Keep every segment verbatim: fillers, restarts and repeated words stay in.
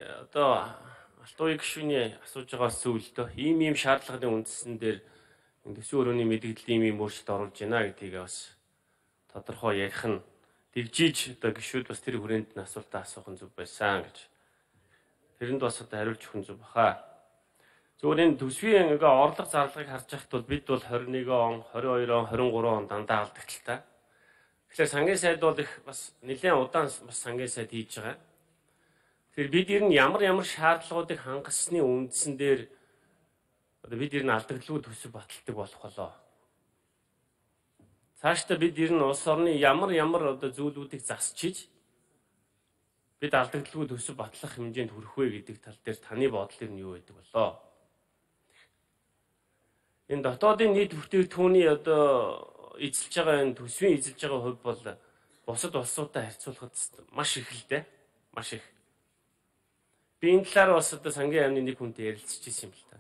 Одоо алтууи гишүүний асууж байгаа зүйлдөө ийм ийм шаардлагын үндсэн дээр төсвийн өрөөний мэдээлэл ийм ийм өөрчлөлт оруулж байна гэдгийг бас тодорхой ярих нь дэгжиж одоо гишүүд бас тэр хүрээнд нь асуултаа асуух нь зөв байсан гэж. Тэрэнд бас одоо хариулж өгөх нь зөв баха. Зөвхөн энэ төсвийн ингээ орлого зарлагыг харж байхад бол бид бол двадцать one он, twenty-two он, twenty-three он дандаа алдагталтай. Тэгэхээр сангийн сайд бол их бас нэлээд удаан бас сангийн сайд хийж байгаа. Тэгэхээр бид ер нь ямар ямар шаардлагуудыг хангасны үндсэн дээр одоо бид ер нь алдагдлгүй төсөв баталдаг болох болоо. Цаашдаа бид ер нь улс орны ямар ямар одоо зүйлүүдийг засчиж бид алдагдлгүй төсөв батлах хэмжээнд хүрэх вэ гэдэг тал дээр таны бодол нь юу байдаг болоо? Энэ дотоодын нийт бүтээгдэхүүний одоо эзэлж байгаа энэ төсвийн эзэлж байгаа хувь бол бусад улсуудтай харьцуулахад маш их л дээ. Маш их. Би энэ талаар бас одоо сангийн амны нэг хүнтэй ярилцж ирсэн юм л та.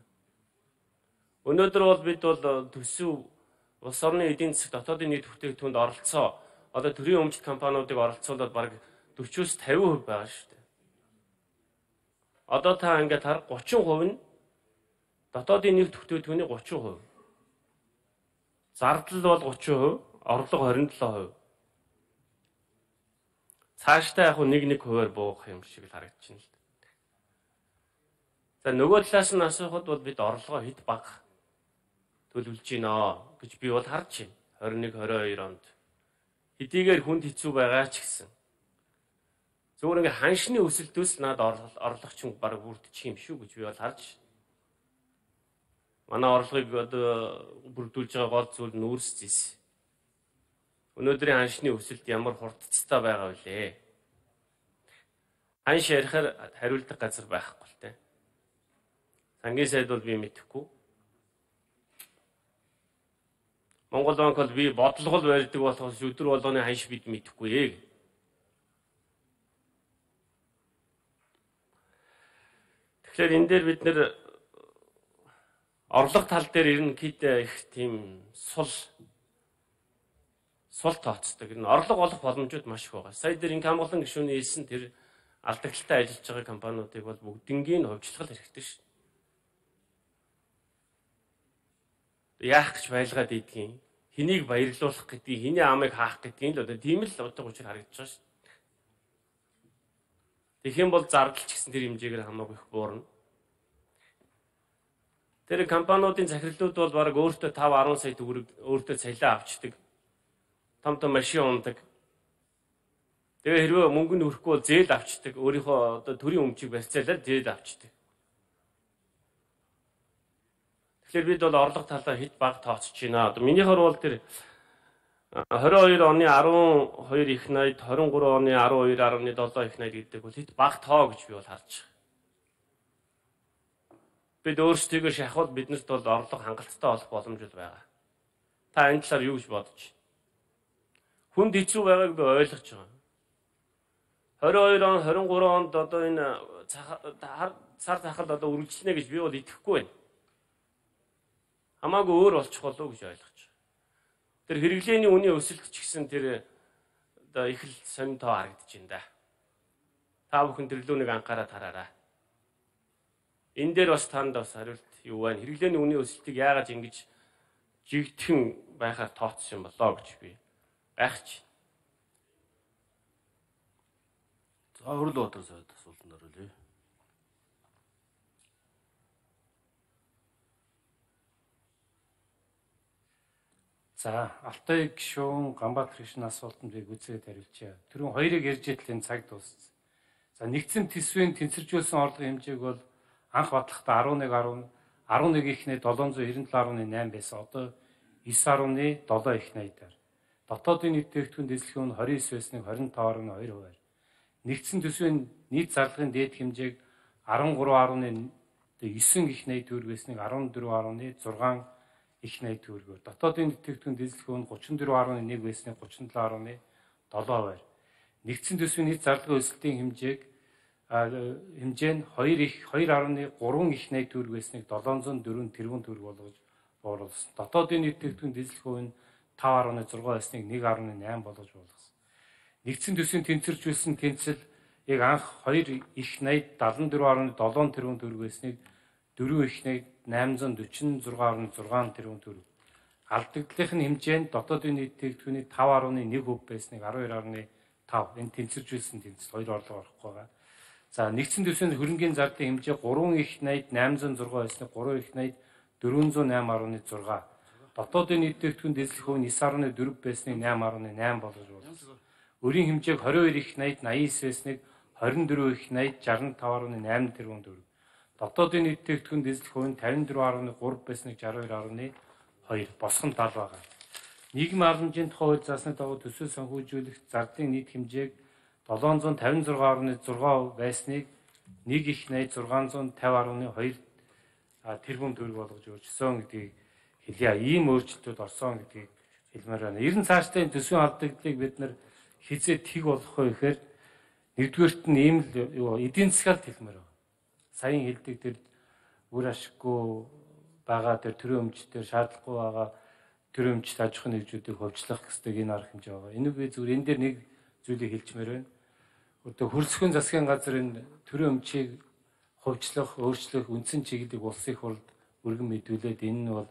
Өнөөдөр бол бид бол төсөв улс орны эдийн засаг дотоодын нийт бүтээгдэхүүнд оролцоо одоо төрийн өмчт компаниудыг оролцуулаад бараг forty-фifty percent байгаа шүү дээ. Одоо та ингээд хар thirty percent нь дотоодын нийт бүтээгдэхүүний thirty percent. Зардал бол thirty percent, орлого twenty-seven percent. Цаашдаа яг нэг нэг хувиар буугах юм шиг л харагдчихна л. За нөгөө талаас нь асуухад бол бид орлогоо хэд бага төлөвлөж гинэ гэж би бол харж байна. twenty-one, twenty-two онд хэдийгээр хүнд хэцүү байгаа ч гэсэн. Зөвхөн ингээ ханшны өсөлтөөс над орлогч нь баг бүрдчих юм шүү гэж би бол харж байна. Манай орлогыг одоо бүрдүүлж байгаа гол зүйл нь үүс зэс. Өнөөдрийн ханшны өсөлт ямар хурдцтай байгаа вэ? Ханш ярихаар хариулдаг газар байхгүй л дээ. Сангийн сайд бол би мэдэхгүй. Монгол банк бол би бодлого барьдаг болохоос өдөр болгоны ханш бид мэдэхгүй ээ. Тэгэхээр энэ дээр бид нэр орлого тал дээр ерөнхийдөө их тийм сул сул тооцдог. Энэ орлого олох боломжууд маш их байгаа. Сая дээр инкам болон гишүүний хэлсэн тэр алдагталтай ажиллаж байгаа компаниудыг бол бүгднийг хувьчлах хэрэгтэй шүү. Яах гэж байлгаад идэгин. Хэнийг баярлуулах гэдгийг, хэний амыг хаах гэдгийг л одоо тийм л утга учир харагдаж байгаа шүү. Тэгэх юм бол зардалч гэсэн тэр хэмжээгээр хамаагүй их буурна. Тэр компаниудын захирлууд бол баг өөртөө five ten сая төгрөг өөртөө цалиа авчдаг. Том том машин ундаг. Тэгээ хэрвээ мөнгө нь өрөхгүй бол зээл авчдаг. Өөрийнхөө одоо төрийн өмчийг барьцаалаад зээл авчдаг. Тэгэхээр бид бол орлого талаа хэд бага тооцож байна. Одоо минийхэр бол тэр twenty-two оны twelve их найд, twenty-three оны twelve point seven их найд гэдэг бол хэд бага тоо гэж би бол харж байгаа. Бид өөрсдийгөө шахвал биднэрт бол орлого хангалттай болох боломжтой байгаа. Та энэ талаар юу гэж бодож байна? Хүнд хэцүү байгааг би ойлгож байгаа. twenty-two он, twenty-three онд одоо энэ сар захал одоо үргэлжлэнэ гэж би бол итгэхгүй байна. Хамаагүй өөр болчих болов гэж ойлгож байна. Тэр хэрэглээний үнийн өсөлт ч гэсэн тэр одоо их л сонин тоо харагдаж байна да. Та бүхэн төрлөөнийг анхаараад хараарай. Энэ дээр бас танд бас хариулт юу байна? Хэрэглээний үнийн өсөлтийг яагаад ингэж жигдхэн байхаар тооцсон юм болоо гэж би гайхаж. За хөрөл батар сайд асуултанд оруулъя. За Алтай гишүүн Ганбаатар гишүүний асуултанд би үзээд хариулчихъя. Түрүүн хоёрыг ярьж итэл энэ цаг дууссан. За нэгдсэн төсвийн тэнцвэржүүлсэн орлогын хэмжээг бол анх батлахдаа eleven ихний seven ninety-seven point eight байсан. Одоо nine point seven их найдаар. Дотоодын нийт бүтээгдэхүүн дэслэхүүн нь twenty-nine байсныг twenty-five point two хувиар. Нэгдсэн төсвийн нийт зарлагын дээд хэмжээг thirteen point nine их найд төгрөг байсныг fourteen point six их найд төгрөгөөр. Дотоодын нийт бүтээгдэхүүн дэслэхүүн thirty-four point one байсныг thirty-seven point seven хувиар. Нэгдсэн төсвийн нийт зарлагын өсөлтийн хэмжээг хэмжээ нь two их two point three их найд төгрөг байсныг seven hundred four тэрбум төгрөг болгож бууруулсан. Дотоодын нийт бүтээгдэхүүн дэслэхүүн five point six байсныг one point eight болгож буулгасан. Нэгдсэн төсвийн тэнцвэржүүлсэн тэнцэл яг анх хоёр их найд дадлан дөрвөн гаруй долоон тэрбум төгрөг байсныг дөрвөн их найд найман зуун дөрвөн зургаан гаруй зургаан тэрбум төгрөг. Алдагдлын хэмжээнд дотоодын нийт тээгдэхүүний таван гаруй нэг хувь байсныг арван хоёр гаруй тав энэ тэнцвэржүүлсэн тэнцэл хоёр орлого орохгүй байгаа. За нэгдсэн төсвийн хөрөнгийн зардын хэмжээ гурван их найд найман зуун зургаан байсныг гурван их найд дөрвөн зуун найман гаруй зургаан. Дотоодын нийт тээгдэхүүн дэслэх хувь нь девять гаруй дөрвөн байсныг найман гаруй найман болгож болно. Өрийн хэмжээг двадцать хоёр их найд восемьдесят байсныг двадцать четыре их найд шестьдесят пять гаруй восемь тэрбум төгрөг. Дотоодын нийт тээгдэхүүн дэслэх хувь нь пятьдесят четыре гаруй три байсныг шестьдесят two гаруй two босгон тал байгаа. Нийгмийн халамжийн тухай хууль заасны дагуу төсөв санхүүжүүлэх зардын нийт хэмжээг seven fifty-six гаруй six percent байсныг нэг их найд six fifty гаруй two тэрбум төгрөг болгож өөрчилсөн гэдгийг хэлье. Ийм өөрчлөлтүүд орсон гэдгийг хэлмээр байна. Ерөн цаашдаа төсвийн алдагдлыг бид нар хизээ тэг болох вэ гэхээр нэгдүгээрт нь ийм л эдийн засгалт хэлмээр байна. Саяхан хэлдэг тэр үр ашиггүй байгаа тэр төрийн өмчтөр шаардлагагүй байгаа төрийн өмчт аж ахуйн нэгжүүдийг хөгжлөх гэсдэг энэ арга хэмжээ байгаа. Энэ би зүгээр энэ дээр нэг зүйлийг хэлчмээр байна. Одоо хөрсгөн засгийн газар энэ төрийн өмчийг хөгжлөх, өөрчлөх үндсэн чиглэлийг улсын хурлд өргөн мэдүүлээд энэ нь бол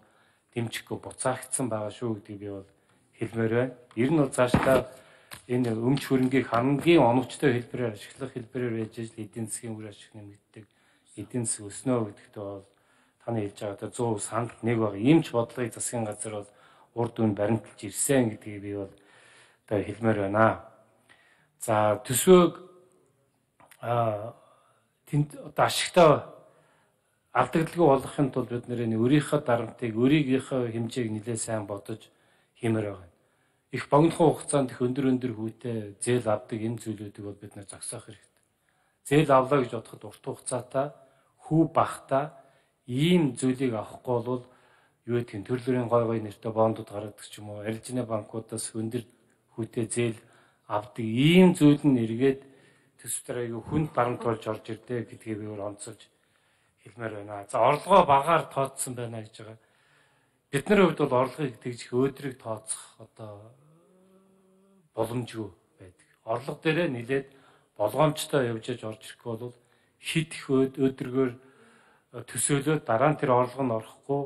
дэмжихгүй буцаагдсан байгаа шүү гэдгийг би бол хэлмээр байна. Ер нь бол цаашдаа энэ өмч хөрөнгийг хамгийн оновчтой хэлбэрээр ашиглах хэлбэрээр байж ижил эдийн засгийн үр ашиг нэмэгддэг, эдийн засаг өснө гэдэгт бол таны хэлж байгаатай one hundred percent санал нэг баг. Ийм ч бодлогыг засгийн газар бол урд үн баримталж ирсэн гэдгийг би бол одоо хэлмээр байна. За төсвөөг а тэнд одоо ашигтай алдагдaltaгүй болгохын тулд бид нэр өөрийнхөө дарамтыг, өөрийнхөө хэмжээг нэлээд сайн бодож хиймээр байна. Их богинохон хугацаанд их өндөр өндөр хүүтэй зээл авдаг энэ зүйлүүдийг бол бид нэр зогсоох хэрэгтэй. Зээл авлаа гэж бодоход урт хугацаатай хүү багтаа ийм зүйлийг авахгүй бол юу гэдгийг төрлөрийн гой гой нэртэй бондууд гаргадаг ч юм уу, арилжааны банкудаас өндөр хүүтэй зээл авдаг ийм зүйл нь эргээд төсвөр аягүй хүнд барамт болж орж ирдэ гэдгийг би өөр онцолж хэлмээр байна. За орлогоо багаар тооцсон байна гэж байгаа. Бидний хувьд бол орлогыг тэгж өөдрөг тооцох одоо боломжгүй байдаг. Орлого дээрээ нэлээд болгоомжтой явж аж орж ирэхгүй бол хит их өөдрөгөөр төсөөлөө дараа нь тэр орлого нь орохгүй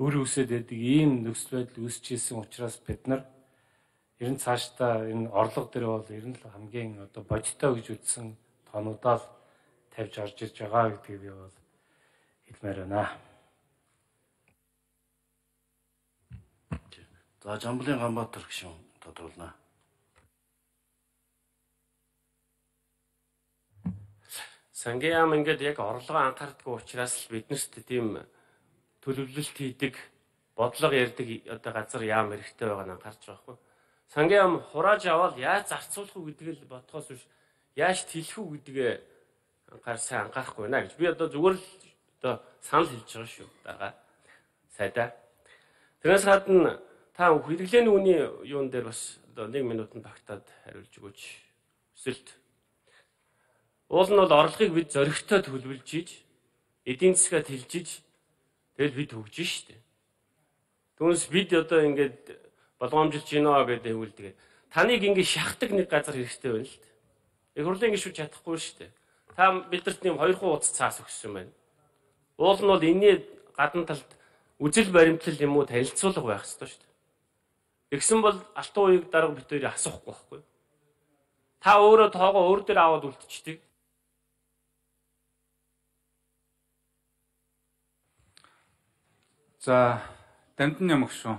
өр үсээд байдаг ийм нөхцөл байдал үүсэж ирсэн учраас бид нар ер нь цаашдаа энэ орлого дээр бол ер нь л хамгийн одоо бодиттой гэж үзсэн тонуудаа л тавьж орж ирж байгаа гэдгийг би бол хэлмээр байна. За Жамблын Ганбаатар гишүүн тодруулна. Сангийн яам ингээд яг орлогоо анхаардаггүй учраас л биднэрт тийм төлөвлөлт хийдэг, бодлого ярьдаг одоо газар яам хэрэгтэй байгааг нь анхаарч байгаа хгүй. Сангийн яам хурааж аваад яаж зарцуулах уу гэдгийг л бодхоос биш яаж тэлэх үү гэдгээ анхаар сайн анхаарахгүй байна гэж би одоо зүгээр л одоо санал хэлж байгаа шүү дараа сайдаа. Тэрээс гадна та хэрэглээний үний юун дээр бас одоо нэг минутанд багтаад хариулж өгөөч. Өсөлт. Уул нь бол орлогыг бид зоригтой төлөвлөж иж, эдийн засгаа тэлж иж, тэгэл бид хөгжиж штэ. Түүнээс бид одоо ингээд болгоомжилж гинөө гэдэг хэлдэг. Таныг ингээд шахдаг нэг газар хэрэгтэй байна л дээ. Их хурлын гишүүн чадахгүй штэ. Та бидэрт нэм хоёр хуудас цаас өгсөн байна. Уул нь бол энэний гадна талд үжил баримтлал юм уу танилцуулга байх ёстой штэ. Тэгсэн бол алтан уяг дарга бид хоёрыг асуухгүй байхгүй. Та өөрөө тоогоо өөр дээр аваад үлдчихдэг. За, Дамдан Ямагшуу